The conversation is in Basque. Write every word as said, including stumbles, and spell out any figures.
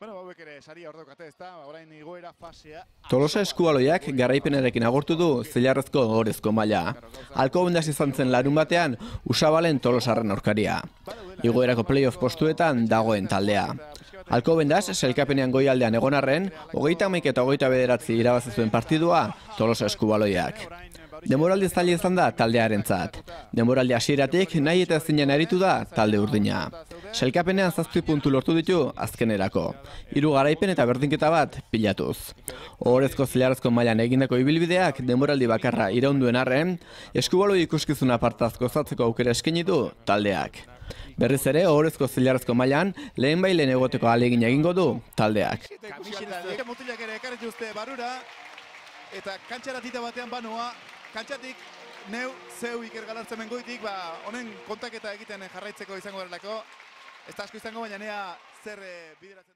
Bueno, hauek ere saria ordokate, ezta? Orain igoera fasea. Tolosa Eskubaloiak garaipenarekin agortu du zilarrezko ohorezko maila. Alcobendas izan zen larun batean Usabalen Tolosarren aurkaria. Igoerako playoff postuetan dagoen taldea. Alcobendas sailkapenean goialdean egon arren, hogeita hamaika eta hogeita bederatzi irabazi zuen partidua Tolosa Eskubaloiak. Denboraldi zaila izan da taldearentzat. Denboraldi hasieratik nahi eta ezinen aritu da talde urdina. Sailkapenean zazpi puntu lortu ditu azkenerako. Hiru garaipen eta berdinketa bat pilatuz. Ohorezko zilarrezko mailan egindako ibilbideak denboraldi bakarra iraunduen arren, Eskubaloi ikuskizuna partaz gozatzeko aukera eskaini du taldeak. Berriz ere, ohorezko zilarrezko mailan lehen bailen egoteko ahalegina egingo du taldeak. Kamiseta mutilak ere ekarri dituzte barrura eta kantxara tita batean banoa, kantxatik neu zeu Iker Galartzen mengoitik, ba, honen kontaketa egiten jarraitzeko izango berelako. Ez da asko izango, baina nea zer bideratzen.